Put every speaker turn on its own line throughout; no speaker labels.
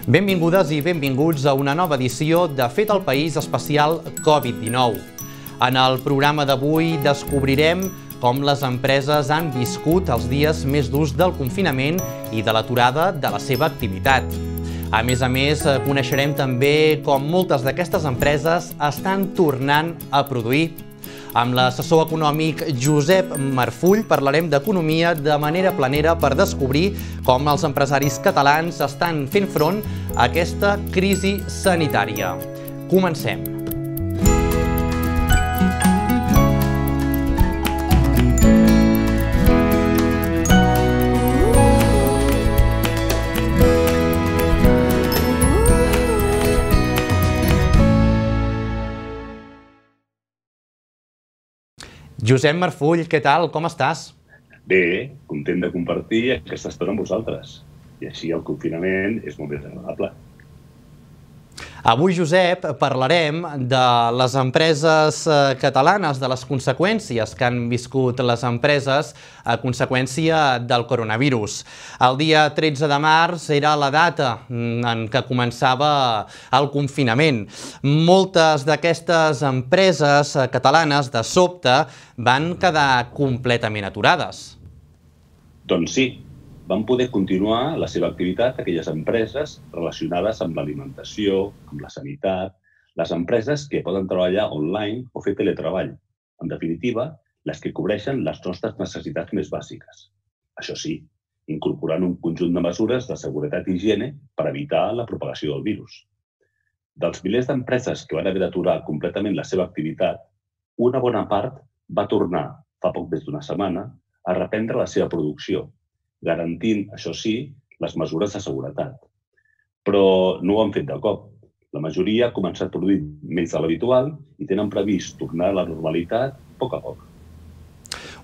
Benvingudes i benvinguts a una nova edició de Fet al País especial Covid-19. En el programa d'avui descobrirem com les empreses han viscut els dies més durs del confinament i de l'aturada de la seva activitat. A més, coneixerem també com moltes d'aquestes empreses estan tornant a produir. Amb l'assessor econòmic Josep Marfull parlarem d'economia de manera planera per descobrir com els empresaris catalans estan fent front a aquesta crisi sanitària. Comencem. Josep Marfull, què tal? Com estàs?
Bé, content de compartir aquesta estona amb vosaltres. I així el confinament és molt més agradable.
Avui, Josep, parlarem de les empreses catalanes, de les conseqüències que han viscut les empreses a conseqüència del coronavirus. El dia 13 de març era la data en què començava el confinament. Moltes d'aquestes empreses catalanes, de sobte, van quedar completament aturades.
Doncs sí, van poder continuar la seva activitat aquelles empreses relacionades amb l'alimentació, amb la sanitat, les empreses que poden treballar online o fer teletreball. En definitiva, les que cobreixen les nostres necessitats més bàsiques. Això sí, incorporant un conjunt de mesures de seguretat i higiene per evitar la propagació del virus. Dels milers d'empreses que van haver d'aturar completament la seva activitat, una bona part va tornar, fa poc més d'una setmana, a reprendre la seva producció, garantint, això sí, les mesures de seguretat. Però no ho han fet de cop. La majoria ha començat a produir menys de l'habitual i tenen previst tornar a la normalitat a poc a poc.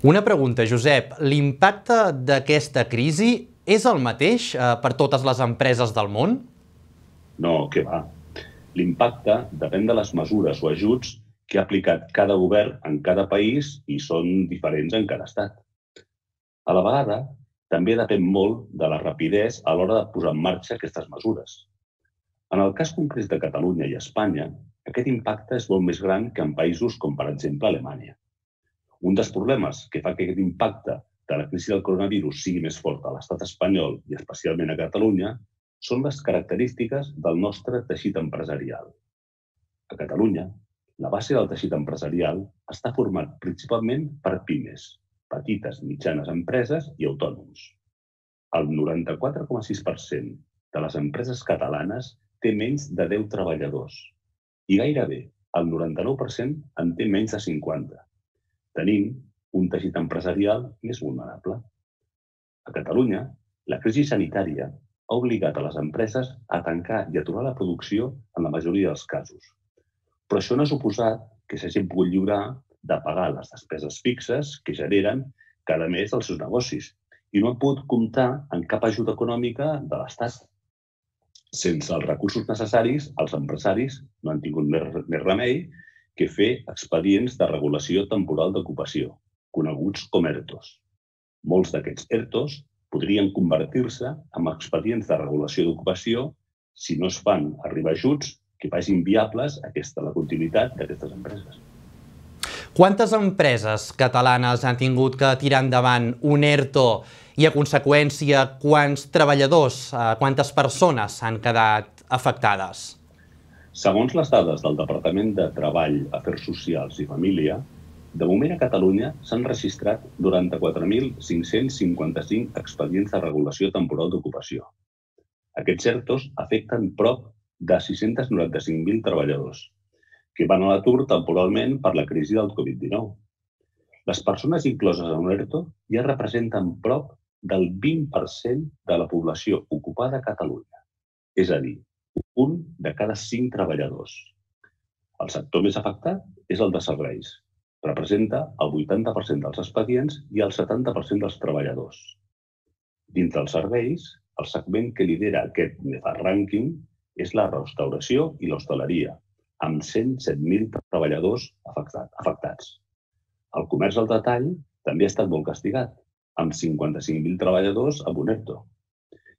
Una pregunta, Josep. L'impacte d'aquesta crisi és el mateix per totes les empreses del món?
No, què va. L'impacte depèn de les mesures o ajuts que ha aplicat cada govern en cada país i són diferents en cada estat. A la vegada, també depèn molt de la rapidesa a l'hora de posar en marxa aquestes mesures. En el cas concret de Catalunya i Espanya, aquest impacte és molt més gran que en països com, per exemple, Alemanya. Un dels problemes que fa que aquest impacte de la crisi del coronavirus sigui més fort a l'estat espanyol i especialment a Catalunya són les característiques del nostre teixit empresarial. A Catalunya, la base del teixit empresarial està format principalment per pimes, petites i mitjanes empreses i autònoms. El 94,6% de les empreses catalanes té menys de 10 treballadors i gairebé el 99% en té menys de 50. Tenim un teixit empresarial més vulnerable. A Catalunya, la crisi sanitària ha obligat a les empreses a tancar i aturar la producció en la majoria dels casos. Però això no ha suposat que s'hagin pogut lliurar de pagar les despeses fixes que generen cada mes els seus negocis i no han pogut comptar en cap ajuda econòmica de l'Estat. Sense els recursos necessaris, els empresaris no han tingut més remei que fer expedients de regulació temporal d'ocupació, coneguts com ERTOs. Molts d'aquests ERTOs podrien convertir-se en expedients de regulació d'ocupació si no es fan arribar ajuts que facin viables la continuïtat d'aquestes empreses.
Quantes empreses catalanes han tingut que tirar endavant un ERTO i, a conseqüència, quants treballadors, quantes persones han quedat afectades?
Segons les dades del Departament de Treball, Afers Socials i Família, de moment a Catalunya s'han registrat 94.555 expedients de regulació temporal d'ocupació. Aquests ERTOs afecten prop de 695.000 treballadors, que van a l'atur temporalment per la crisi del Covid-19. Les persones incloses en un ERTO ja representen prop del 20% de la població ocupada a Catalunya, és a dir, un de cada 5 treballadors. El sector més afectat és el de serveis. Representa el 80% dels expedients i el 70% dels treballadors. Dins dels serveis, el segment que lidera aquest rànquing és la restauració i l'hostaleria, amb 107.000 treballadors afectats. El comerç al detall també ha estat molt castigat, amb 55.000 treballadors amb un ERTO.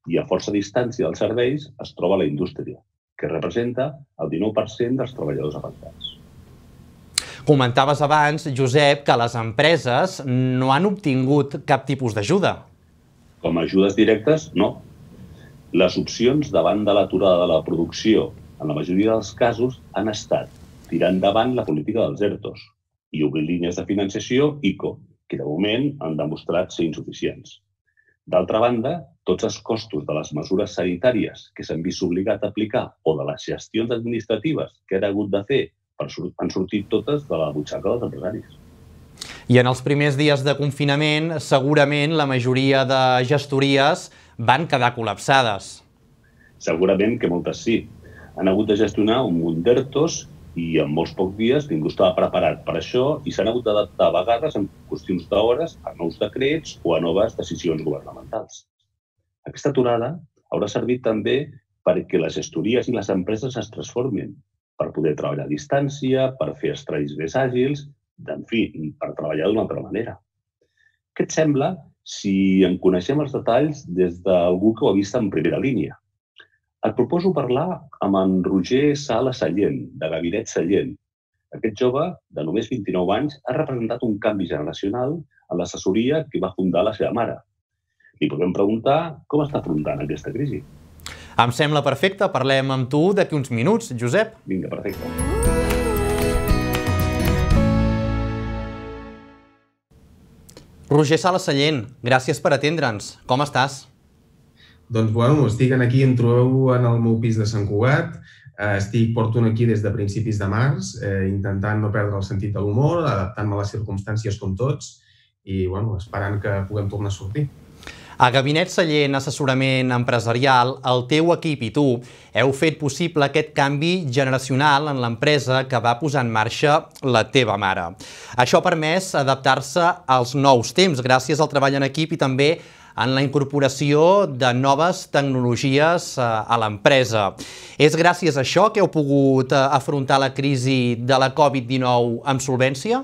i a força distància dels serveis es troba la indústria, que representa el 19% dels treballadors afectats.
Comentaves abans, Josep, que les empreses no han obtingut cap tipus d'ajuda.
Com a ajudes directes, no. Les opcions davant de l'aturada de la producció, en la majoria dels casos, han estat tirar endavant la política dels ERTOs i obrir línies de financiació ICO, que de moment han demostrat ser insuficients. D'altra banda, tots els costos de les mesures sanitàries que s'han vist obligat a aplicar o de les gestions administratives que han hagut de fer han sortit totes de la butxaca dels empresaris.
I en els primers dies de confinament, segurament la majoria de gestories van quedar col·lapsades.
Segurament que moltes sí. Han hagut de gestionar un munt d'ERTOs i en molts pocs dies ningú estava preparat per això i s'han hagut d'adaptar a vegades en qüestions d'hores a nous decrets o a noves decisions governamentals. Aquesta aturada haurà servit també perquè les gestories i les empreses es transformin, per poder treballar a distància, per fer estrais més àgils, en fi, per treballar d'una altra manera. Què et sembla si en coneixem els detalls des d'algú que ho ha vist en primera línia? Et proposo parlar amb en Roger Sala Sallent, de Gabinet Sallent. Aquest jove, de només 29 anys, ha representat un canvi generacional en l'assessoria que va fundar la seva mare. Li podem preguntar com està afrontant aquesta crisi.
Em sembla perfecte, parlem amb tu d'aquí uns minuts, Josep.
Vinga, perfecte.
Roger Sala Sallent, gràcies per atendre'ns. Com estàs?
Doncs, bueno, estic aquí, em trobeu en el meu pis de Sant Cugat. Porto aquí des de principis de març, intentant no perdre el sentit de l'humor, adaptant-me a les circumstàncies com tots i, bueno, esperant que puguem tornar a sortir.
A Gabinet Sallent Assessorament Empresarial, el teu equip i tu heu fet possible aquest canvi generacional en l'empresa que va posar en marxa la teva mare. Això ha permès adaptar-se als nous temps gràcies al treball en equip i també en la incorporació de noves tecnologies a l'empresa. És gràcies a això que heu pogut afrontar la crisi de la Covid-19 amb solvència?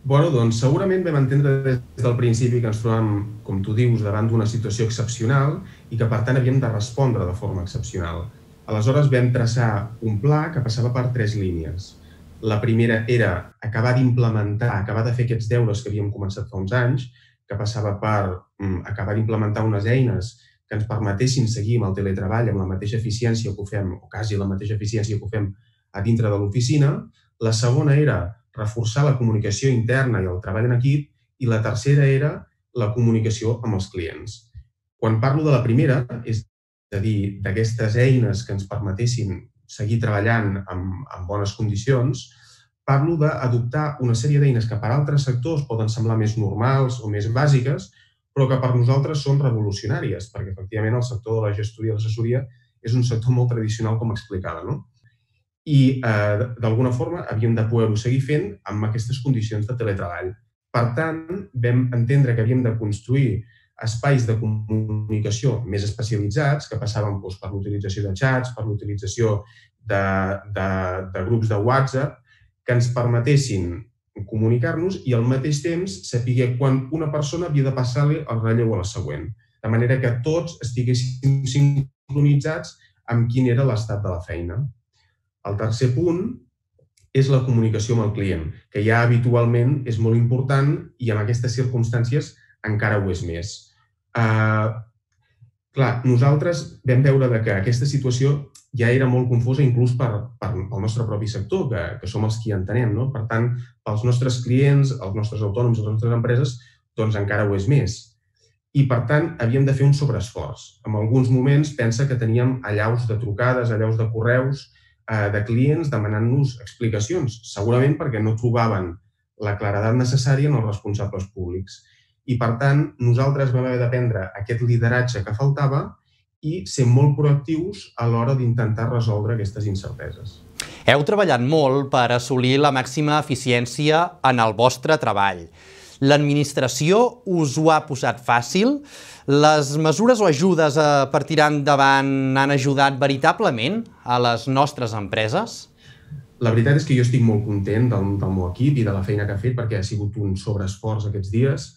Bueno, doncs segurament vam entendre des del principi que ens trobàvem, com tu dius, davant d'una situació excepcional i que, per tant, havíem de respondre de forma excepcional. Aleshores vam traçar un pla que passava per 3 línies. La primera era acabar d'implementar, acabar de fer aquests deures que havíem començat fa uns anys, que passava per acabar d'implementar unes eines que ens permetessin seguir amb el teletreball amb la mateixa eficiència que ho fem, o quasi la mateixa eficiència que ho fem a dintre de l'oficina. La segona era reforçar la comunicació interna i el treball en equip, i la tercera era la comunicació amb els clients. Quan parlo de la primera, és a dir, d'aquestes eines que ens permetessin seguir treballant en bones condicions, parlo d'adoptar una sèrie d'eines que per altres sectors poden semblar més normals o més bàsiques, però que per nosaltres són revolucionàries, perquè efectivament el sector de la gestoria i l'assessoria és un sector molt tradicional, com explicava, no? I d'alguna forma havíem de poder-ho seguir fent amb aquestes condicions de teletreball. Per tant, vam entendre que havíem de construir espais de comunicació més especialitzats que passaven per l'utilització de xats, per l'utilització de grups de WhatsApp, que ens permetessin comunicar-nos i al mateix temps saber quan una persona havia de passar-li el relleu a la següent, de manera que tots estiguéssim sincronitzats amb quin era l'estat de la feina. El tercer punt és la comunicació amb el client, que ja habitualment és molt important i en aquestes circumstàncies encara ho és més. Clar, nosaltres vam veure que aquesta situació ja era molt confusa inclús pel nostre propi sector, que som els qui entenem. Per tant, pels nostres clients, els nostres autònoms, les nostres empreses, doncs encara ho és més. I, per tant, havíem de fer un sobreesforç. En alguns moments pensa que teníem allaus de trucades, allaus de correus, de clients demanant-nos explicacions, segurament perquè no trobaven la claredat necessària en els responsables públics. I, per tant, nosaltres vam haver de prendre aquest lideratge que faltava i ser molt proactius a l'hora d'intentar resoldre aquestes incerteses.
Heu treballat molt per assolir la màxima eficiència en el vostre treball. L'administració us ho ha posat fàcil? Les mesures o ajudes per tirar endavant han ajudat veritablement a les nostres empreses?
La veritat és que jo estic molt content del meu equip i de la feina que ha fet perquè ha sigut un sobreesforç aquests dies.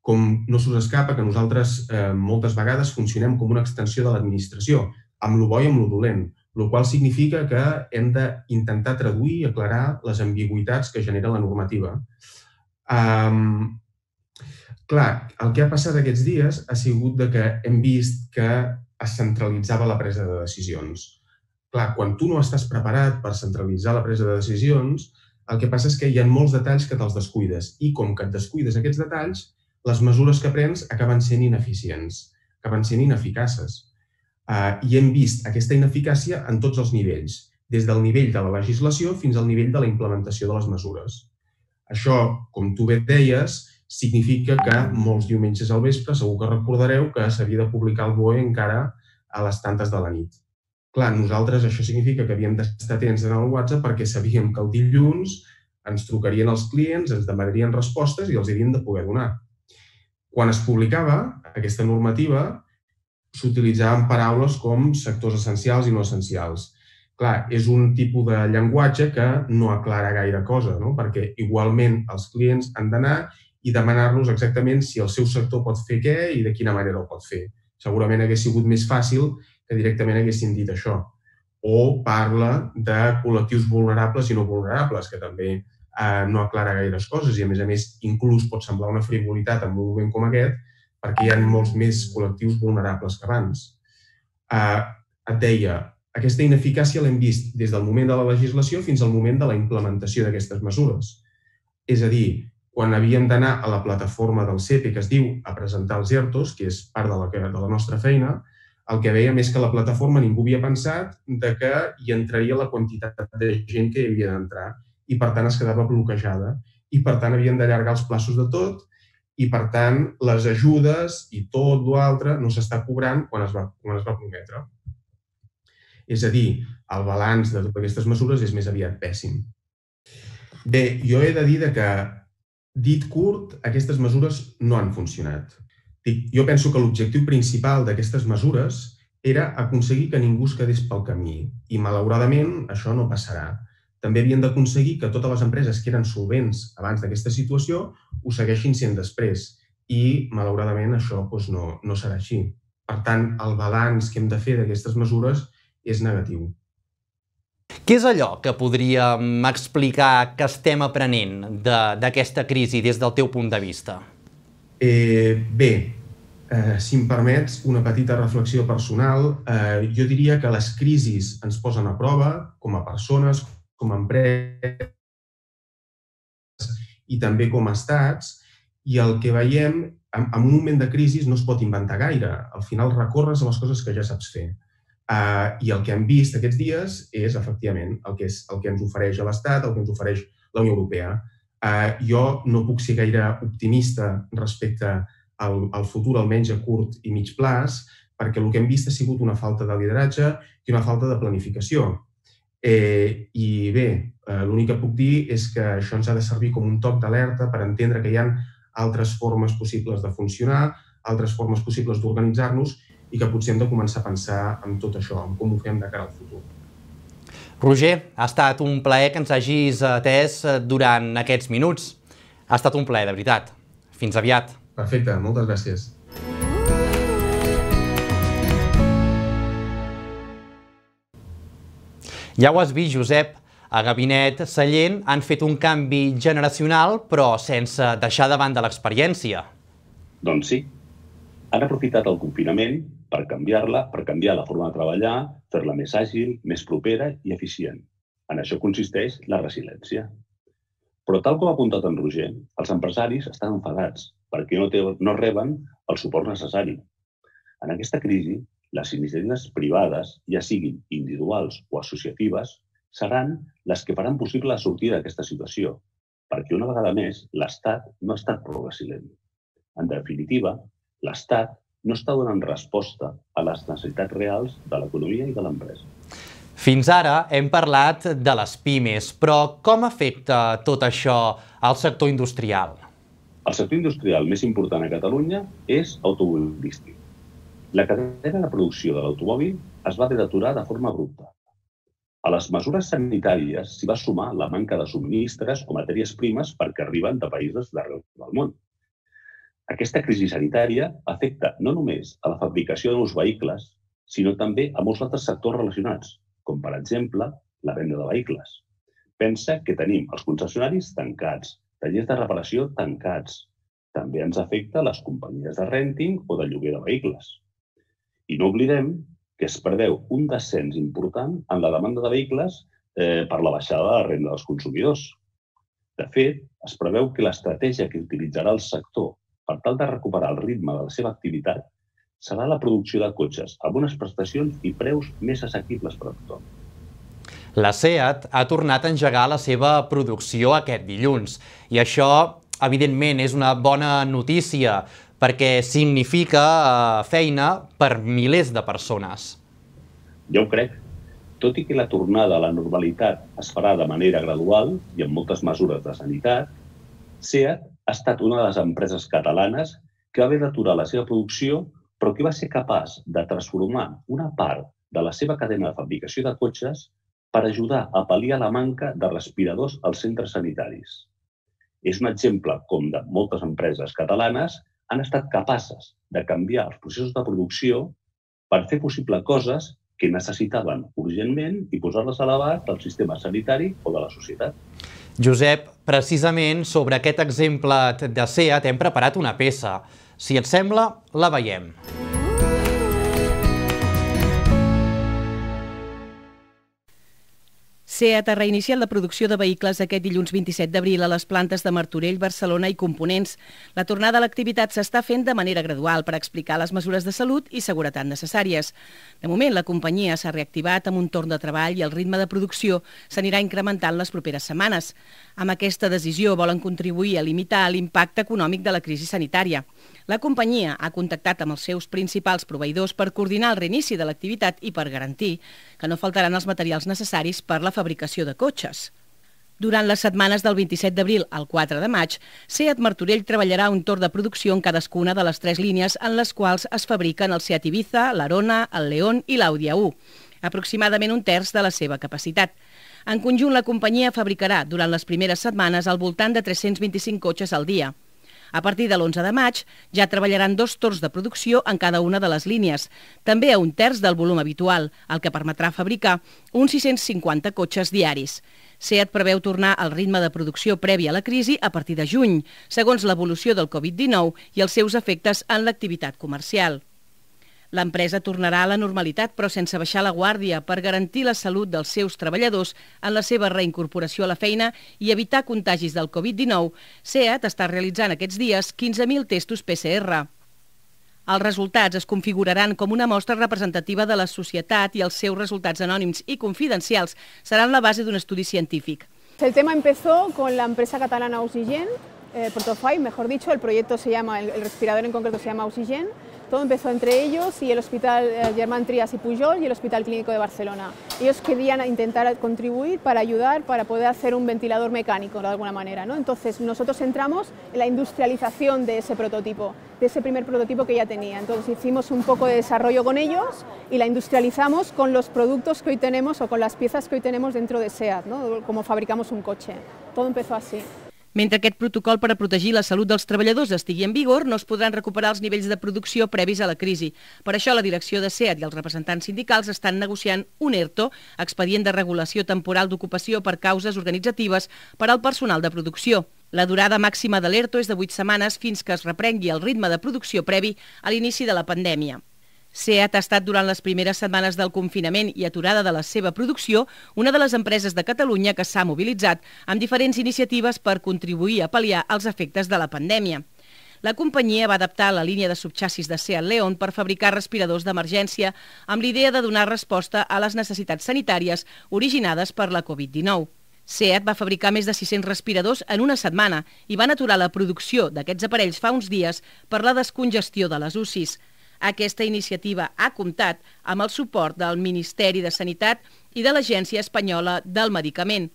Com no s'us escapa que nosaltres moltes vegades funcionem com una extensió de l'administració, amb lo bo i amb lo dolent, el qual significa que hem d'intentar traduir i aclarar les ambigüitats que genera la normativa. Clar, el que ha passat aquests dies ha sigut que hem vist que es centralitzava la presa de decisions. Clar, quan tu no estàs preparat per centralitzar la presa de decisions, el que passa és que hi ha molts detalls que te'ls descuides i com que et descuides aquests detalls, les mesures que prens acaben sent ineficients, acaben sent ineficaces. I hem vist aquesta ineficàcia en tots els nivells, des del nivell de la legislació fins al nivell de la implementació de les mesures. Això, com tu bé deies, significa que molts diumenges al vespre segur que recordareu que s'havia de publicar el BOE encara a les tantes de la nit. Clar, nosaltres això significa que havíem d'estar atents en el WhatsApp perquè sabíem que el dilluns ens trucarien els clients, ens demanarien respostes i els havíem de poder donar. Quan es publicava aquesta normativa, s'utilitzaven paraules com sectors essencials i no essencials. Clar, és un tipus de llenguatge que no aclara gaire cosa, no? Perquè igualment els clients han d'anar i demanar-nos exactament si el seu sector pot fer què i de quina manera ho pot fer. Segurament hagués sigut més fàcil que directament haguessin dit això. O parla de col·lectius vulnerables i no vulnerables, que també no aclara gaires coses i, a més, inclús pot semblar una frivolitat en un moment com aquest perquè hi ha molts més col·lectius vulnerables que abans. Et deia, aquesta ineficàcia l'hem vist des del moment de la legislació fins al moment de la implementació d'aquestes mesures. És a dir, quan havíem d'anar a la plataforma del CEPE, que es diu a presentar els ERTOs, que és part de la nostra feina, el que veiem és que a la plataforma ningú havia pensat que hi entraria la quantitat de gent que hi havia d'entrar i, per tant, es quedava bloquejada. I, per tant, havien d'allargar els plaços de tot i, per tant, les ajudes i tot l'altre no s'està cobrant quan es va prometre. És a dir, el balanç de totes aquestes mesures és més aviat pèssim. Bé, jo he de dir que, dit curt, aquestes mesures no han funcionat. Jo penso que l'objectiu principal d'aquestes mesures era aconseguir que ningú es quedés pel camí i, malauradament, això no passarà. També havien d'aconseguir que totes les empreses que eren solvents abans d'aquesta situació ho segueixin sent després i, malauradament, això no serà així. Per tant, el balanç que hem de fer d'aquestes mesures és negatiu.
Què és allò que podríem explicar que estem aprenent d'aquesta crisi des del teu punt de vista?
Bé, si em permets una petita reflexió personal, jo diria que les crisis ens posen a prova com a persones, com a empreses i també com a estats, i el que veiem, en un moment de crisi no es pot inventar gaire. Al final recorres a les coses que ja saps fer. I el que hem vist aquests dies és, efectivament, el que ens ofereix l'Estat, el que ens ofereix la Unió Europea. Jo no puc ser gaire optimista respecte al futur, almenys a curt i mig plaç, perquè el que hem vist ha sigut una falta de lideratge i una falta de planificació. I bé, l'únic que puc dir és que això ens ha de servir com un toc d'alerta per entendre que hi ha altres formes possibles de funcionar, altres formes possibles d'organitzar-nos i que potser hem de començar a pensar en tot això, en com ho fem de cara al futur.
Roger, ha estat un plaer que ens hagis atès durant aquests minuts. Ha estat un plaer, de veritat. Fins aviat.
Perfecte, moltes gràcies.
Ja ho has vist, Josep. A Gabinet Sallent han fet un canvi generacional, però sense deixar de banda l'experiència.
Doncs sí. Han aprofitat el confinament per canviar-la, per canviar la forma de treballar, fer-la més àgil, més propera i eficient. En això consisteix la resiliència. Però tal com ha apuntat en Roger, els empresaris estan enfadats perquè no reben el suport necessari. En aquesta crisi, les iniciatives privades, ja siguin individuals o associatives, seran les que faran possible la sortida d'aquesta situació, perquè una vegada més l'Estat no ha estat prou resilient. En definitiva, l'Estat no està donant resposta a les necessitats reals de l'economia i de l'empresa.
Fins ara hem parlat de les pimes, però com afecta tot això al sector industrial?
El sector industrial més important a Catalunya és automobilístic. La cadena de producció de l'automòbil es va haver d'aturar de forma abrupta. A les mesures sanitàries s'hi va sumar la manca de subministres o matèries primes perquè arriben de països d'arreu del món. Aquesta crisi sanitària afecta no només a la fabricació de nous vehicles, sinó també a molts altres sectors relacionats, com per exemple la venda de vehicles. Pensa que tenim els concessionaris tancats, tallers de reparació tancats. També ens afecta les companyies de rènting o de lloguer de vehicles. I no oblidem que es preveu un descens important en la demanda de vehicles per la baixada de la renda dels consumidors. De fet, es preveu que l'estratègia que utilitzarà el sector per tal de recuperar el ritme de la seva activitat serà la producció de cotxes amb unes prestacions i preus més assequibles per a tothom.
La SEAT ha tornat a engegar la seva producció aquest dilluns i això, evidentment, és una bona notícia perquè significa feina per milers de persones.
Ja ho crec. Tot i que la tornada a la normalitat es farà de manera gradual i amb moltes mesures de sanitat, SEAT ha estat una de les empreses catalanes que va haver d'aturar la seva producció, però que va ser capaç de transformar una part de la seva cadena de fabricació de cotxes per ajudar a pal·liar la manca de respiradors als centres sanitaris. És un exemple com de moltes empreses catalanes han estat capaces de canviar els processos de producció per fer possible coses que necessitaven urgentment i posar-les a l'abast del sistema sanitari o de la societat.
Josep, precisament sobre aquest exemple de SEAT hem preparat una peça. Si et sembla, la veiem.
SEAT ha reiniciat la producció de vehicles aquest dilluns 27 d'abril a les plantes de Martorell, Barcelona i Components. La tornada a l'activitat s'està fent de manera gradual per explicar les mesures de salut i seguretat necessàries. De moment, la companyia s'ha reactivat amb un torn de treball i el ritme de producció s'anirà incrementant les properes setmanes. Amb aquesta decisió volen contribuir a limitar l'impacte econòmic de la crisi sanitària. La companyia ha contactat amb els seus principals proveïdors per coordinar el reinici de l'activitat i per garantir que no faltaran els materials necessaris per la fabricació de cotxes. Durant les setmanes del 27 d'abril al 4 de maig, SEAT Martorell treballarà un torn de producció en cadascuna de les 3 línies en les quals es fabriquen el SEAT Ibiza, l'Arona, el León i l'Audi A1, aproximadament un terç de la seva capacitat. En conjunt, la companyia fabricarà durant les primeres setmanes al voltant de 325 cotxes al dia. A partir de l'11 de maig ja treballaran 2 torns de producció en cada una de les línies, també a un terç del volum habitual, el que permetrà fabricar uns 650 cotxes diaris. SEAT preveu tornar al ritme de producció previ a la crisi a partir de juny, segons l'evolució del Covid-19 i els seus efectes en l'activitat comercial. L'empresa tornarà a la normalitat, però sense baixar la guàrdia, per garantir la salut dels seus treballadors en la seva reincorporació a la feina i evitar contagis del Covid-19. SEAT està realitzant aquests dies 15.000 testos PCR. Els resultats es configuraran com una mostra representativa de la societat i els seus resultats anònims i confidencials seran la base d'un estudi científic.
El tema empezó con la empresa catalana Oxygen, Protofive, mejor dicho, el proyecto se llama, el respirador en concreto se llama Oxygen. Todo empezó entre ellos y el Hospital Germán Trias y Pujol y el Hospital Clínico de Barcelona. Ellos querían intentar contribuir para ayudar, para poder hacer un ventilador mecánico de alguna manera, ¿no? Entonces nosotros entramos en la industrialización de ese prototipo, de ese primer prototipo que ya tenía. Entonces hicimos un poco de desarrollo con ellos y la industrializamos con los productos que hoy tenemos o con las piezas que hoy tenemos dentro de SEAT, ¿no? Como fabricamos un coche. Todo empezó así.
Mentre aquest protocol per a protegir la salut dels treballadors estigui en vigor, no es podran recuperar els nivells de producció previs a la crisi. Per això, la direcció de SEAT i els representants sindicals estan negociant un ERTO, expedient de regulació temporal d'ocupació per causes organitzatives per al personal de producció. La durada màxima de l'ERTO és de 8 setmanes fins que es reprengui el ritme de producció previ a l'inici de la pandèmia. SEAT ha estat durant les primeres setmanes del confinament i aturada de la seva producció una de les empreses de Catalunya que s'ha mobilitzat amb diferents iniciatives per contribuir a pal·liar els efectes de la pandèmia. La companyia va adaptar la línia de subxassis de SEAT León per fabricar respiradors d'emergència amb l'idea de donar resposta a les necessitats sanitàries originades per la Covid-19. SEAT va fabricar més de 600 respiradors en una setmana i van aturar la producció d'aquests aparells fa uns dies per la descongestió de les UCIs. Aquesta iniciativa ha comptat amb el suport del Ministeri de Sanitat i de l'Agència Espanyola del Medicament.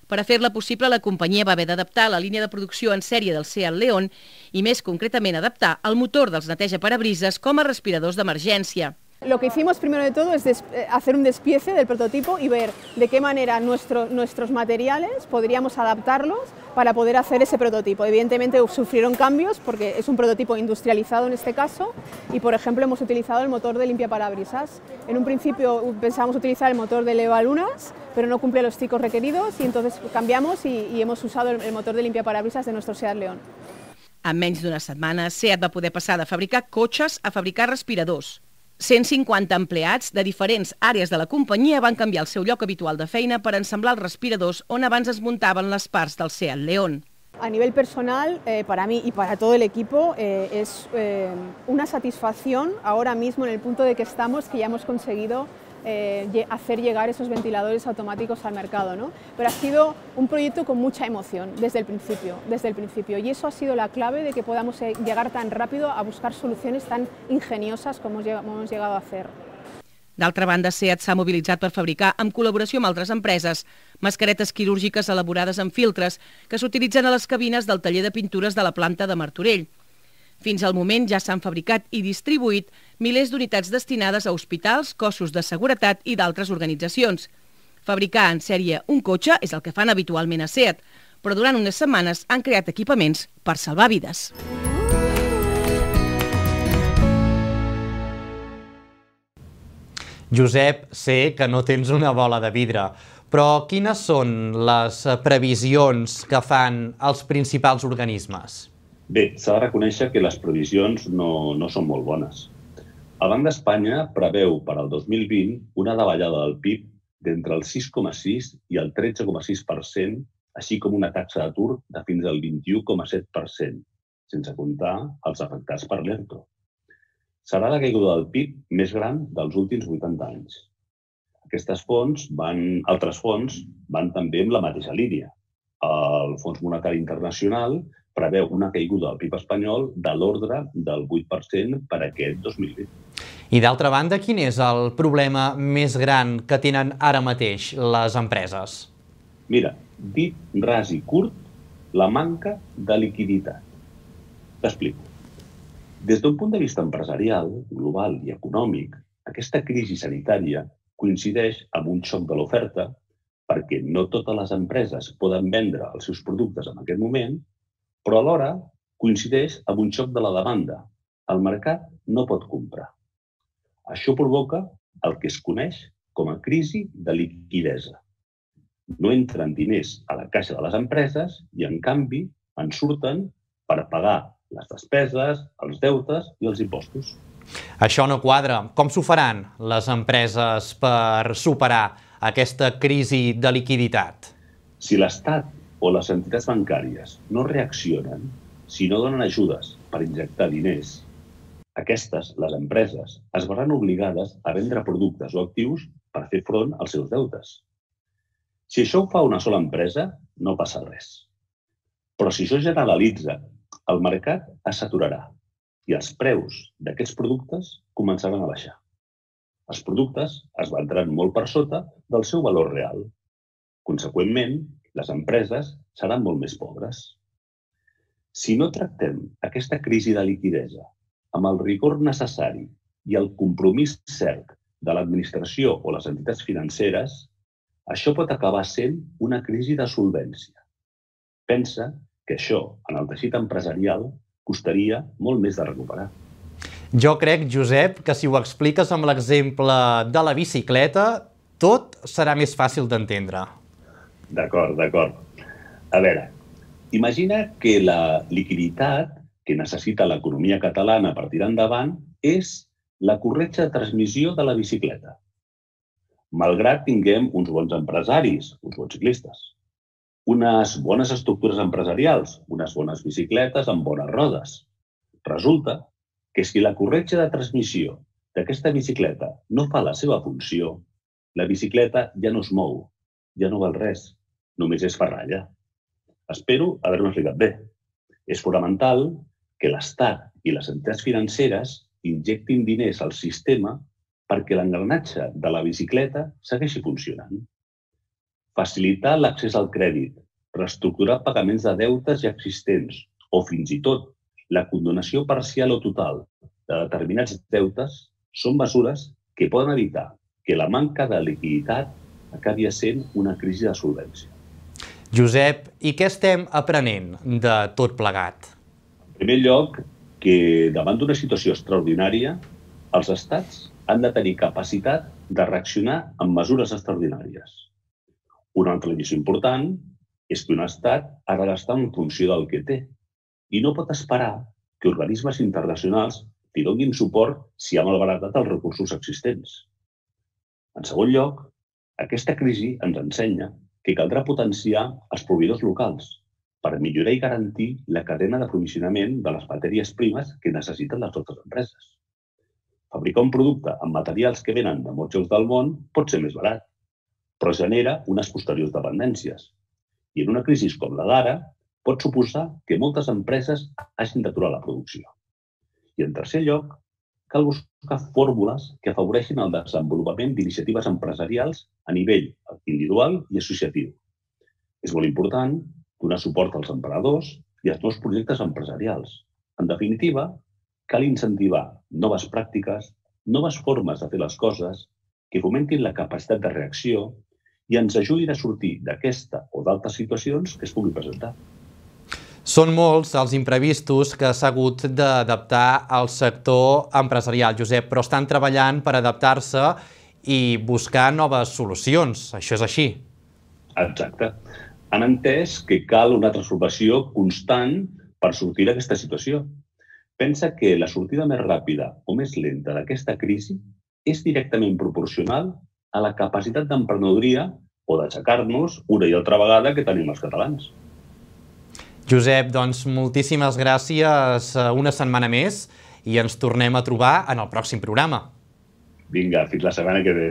Per a fer-la possible, la companyia va haver d'adaptar la línia de producció en sèrie del SEAT León i, més concretament, adaptar el motor dels neteja-parabrises com a respiradors d'emergència.
Lo que hicimos primero de todo es hacer un despiece del prototipo y ver de qué manera nuestros materiales podríamos adaptarlos para poder hacer ese prototipo. Evidentemente sufrieron cambios porque es un prototipo industrializado en este caso y, por ejemplo, hemos utilizado el motor de limpiaparabrisas. En un principio pensábamos utilizar el motor de Levalunas, pero no cumple los ciclos requeridos y entonces cambiamos y hemos usado el motor de limpiaparabrisas de nuestro Seat León.
En menys d'una setmana, Seat va poder passar de fabricar cotxes a fabricar respiradors. 150 empleats de diferents àrees de la companyia van canviar el seu lloc habitual de feina per ensamblar els respiradors on abans es muntaven les parts del Seat León.
A nivel personal, para mí y para todo el equipo, es una satisfacción ahora mismo en el punto de que estamos, que ya hemos conseguido hacer llegar esos ventiladores automáticos al mercado, ¿no? Pero ha sido un proyecto con mucha emoción desde el principio y eso ha sido la clave de que podamos llegar tan rápido a buscar soluciones tan ingeniosas como hemos llegado a hacer.
D'altra banda, Seat s'ha mobilitzat per fabricar, en col·laboració amb altres empreses, mascaretes quirúrgiques elaborades amb filtres que s'utilitzen a les cabines del taller de pintures de la planta de Martorell. Fins al moment ja s'han fabricat i distribuït milers d'unitats destinades a hospitals, cossos de seguretat i d'altres organitzacions. Fabricar en sèrie un cotxe és el que fan habitualment a Seat, però durant unes setmanes han creat equipaments per salvar vides.
Josep, sé que no tens una bola de vidre, però quines són les previsions que fan els principals organismes?
Bé, s'ha de reconèixer que les previsions no són molt bones. El Banc d'Espanya preveu per al 2020 una davallada del PIB d'entre el 6,6 i el 13,6%, així com una taxa d'atur de fins al 21,7%, sense comptar els afectats per l'ERTO. Serà la caiguda del PIB més gran dels últims 80 anys. Altres fons van també en la mateixa línia. El Fons Monetari Internacional preveu una caiguda del PIB espanyol de l'ordre del 8% per aquest 2020.
I d'altra banda, quin és el problema més gran que tenen ara mateix les empreses?
Mira, dit ras i curt, la manca de liquiditat. T'explico. Des d'un punt de vista empresarial, global i econòmic, aquesta crisi sanitària coincideix amb un xoc de l'oferta perquè no totes les empreses poden vendre els seus productes en aquest moment, però alhora coincideix amb un xoc de la demanda. El mercat no pot comprar. Això provoca el que es coneix com a crisi de liquidesa. No entren diners a la caixa de les empreses i, en canvi, en surten per pagar les despeses, els deutes i els impostos.
Això no quadra. Com s'ho faran les empreses per superar aquesta crisi de liquiditat?
Si l'Estat o les entitats bancàries no reaccionen, si no donen ajudes per injectar diners, aquestes, les empreses, es veuran obligades a vendre productes o actius per fer front als seus deutes. Si això ho fa una sola empresa, no passa res. Però si això generalitza, el mercat es saturarà i els preus d'aquests productes començaran a baixar. Els productes es vendran molt per sota del seu valor real. Conseqüentment, les empreses seran molt més pobres. Si no tractem aquesta crisi de liquidesa amb el rigor necessari i el compromís cert de l'administració o les entitats financeres, això pot acabar sent una crisi de solvència. Pensa que això, en el teixit empresarial, costaria molt més de recuperar.
Jo crec, Josep, que si ho expliques amb l'exemple de la bicicleta, tot serà més fàcil d'entendre.
D'acord. A veure, imagina que la liquiditat que necessita l'economia catalana per tirar endavant és la corretja de transmissió de la bicicleta. Malgrat tinguem uns bons empresaris, uns bons ciclistes, unes bones estructures empresarials, unes bones bicicletes amb bones rodes. Resulta que si la corretja de transmissió d'aquesta bicicleta no fa la seva funció, la bicicleta ja no es mou, ja no val res, només és ferralla. Espero haver-me explicat bé. És fonamental que l'Estat i les entitats financeres injectin diners al sistema perquè l'engranatge de la bicicleta segueixi funcionant. Facilitar l'accés al crèdit, reestructurar pagaments de deutes ja existents o fins i tot la condonació parcial o total de determinats deutes són mesures que poden evitar que la manca de liquiditat acabi sent una crisi de solvència.
Josep, i què estem aprenent de tot plegat?
En primer lloc, que davant d'una situació extraordinària, els estats han de tenir capacitat de reaccionar amb mesures extraordinàries. Una altra lliçó important és que un estat ha de gastar en funció del que té i no pot esperar que organismes internacionals li donin suport si ha malbaratat els recursos existents. En segon lloc, aquesta crisi ens ensenya que caldrà potenciar els proveïdors locals per millorar i garantir la cadena d'aprovisionament de les matèries primes que necessiten les nostres empreses. Fabricar un producte amb materials que venen de molts llocs del món pot ser més barat, però genera unes posteriors dependències. I en una crisi com la d'ara pot suposar que moltes empreses hagin d'aturar la producció. I en tercer lloc, cal buscar fórmules que afavoreixin el desenvolupament d'iniciatives empresarials a nivell individual i associatiu. És molt important donar suport als emprenedors i als nous projectes empresarials. En definitiva, cal incentivar noves pràctiques, noves formes de fer les coses que fomentin la capacitat de reacció i ens ajudin a sortir d'aquesta o d'altres situacions que es puguin presentar.
Són molts els imprevistos que s'ha hagut d'adaptar al sector empresarial, Josep, però estan treballant per adaptar-se i buscar noves solucions. Això és així.
Exacte. Han entès que cal una transformació constant per sortir d'aquesta situació. Pensa que la sortida més ràpida o més lenta d'aquesta crisi és directament proporcional a la capacitat d'emprenedoria o d'aixecar-nos una i altra vegada que tenim els catalans.
Josep, doncs moltíssimes gràcies una setmana més i ens tornem a trobar en el pròxim programa.
Vinga, fins la setmana que ve.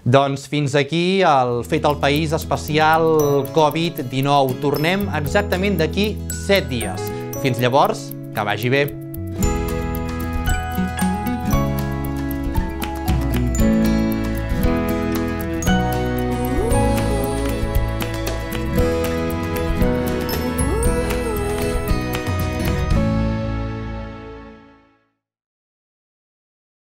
Doncs fins aquí el Fet al País especial Covid-19. Tornem exactament d'aquí 7 dies. Fins llavors, que vagi bé.